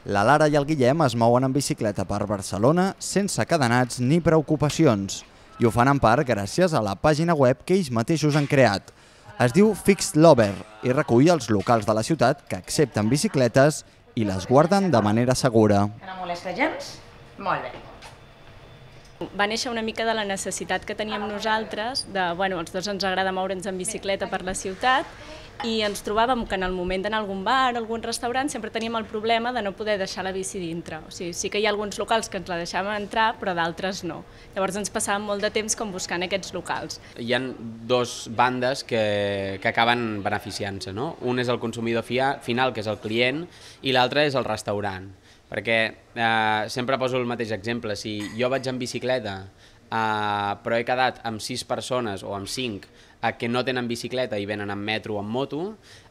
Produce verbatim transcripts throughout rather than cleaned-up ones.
La Lara i el Guillem es mouen en bicicleta per Barcelona sense cadenats ni preocupacions i ho fan en part gràcies a la pàgina web que ells mateixos han creat. Es diu Fixed Lover i recull els locals de la ciutat que accepten bicicletes i les guarden de manera segura. No molesta gens? Molt bé. Va néixer una mica de la necessitat que teníem nosaltres, de, bueno, els dos ens agrada moure'ns en bicicleta per la ciutat i ens trobàvem que en el moment d'anar a algun bar, a algun restaurant, sempre teníem el problema de no poder deixar la bici dintre. O sigui, sí que hi ha alguns locals que ens la deixaven entrar, però d'altres no. Llavors ens passàvem molt de temps com buscant aquests locals. Hi ha dos bandes que, que acaben beneficiant-se, no? Un és el consumidor final, que és el client, i l'altre és el restaurant. Perquè eh, sempre poso el mateix exemple, si jo vaig en bicicleta eh, però he quedat amb sis persones o amb cinc eh, que no tenen bicicleta i venen en metro o en moto,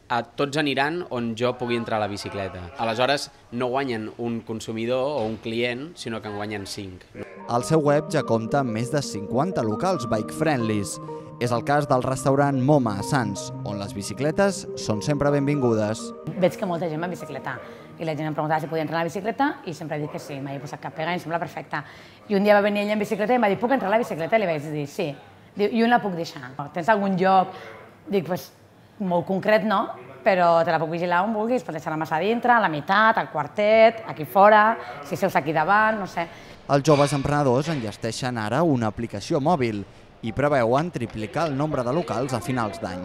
eh, tots aniran on jo pugui entrar a la bicicleta. Aleshores no guanyen un consumidor o un client, sinó que en guanyen cinc. El seu web ja compta amb més de cinquanta locals bike-friendlies. És el cas del restaurant Moma a Sants, on les bicicletes són sempre benvingudes. Veig que molta gent va en bicicleta i la gent em preguntava si podia entrar a la bicicleta i sempre he dit que sí, m'havia posat cap pega i em sembla perfecte. I un dia va venir ella en bicicleta i em va dir, puc entrar a la bicicleta? I li vaig dir, sí. Diu, i on la puc deixar? Tens algun lloc? Dic, pues, molt concret no, però te la puc vigilar on vulguis, pots deixar-la massa a dintre, a la meitat, al quartet, aquí fora, si seus aquí davant, no sé. Els joves emprenedors enllesteixen ara una aplicació mòbil i preveuen triplicar el nombre de locals a finals d'any.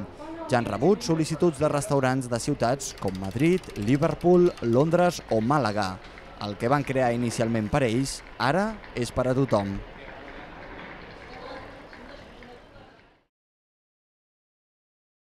Ja han rebut sol·licituds de restaurants de ciutats com Madrid, Liverpool, Londres o Màlaga. El que van crear inicialment per a ells, ara és per a tothom.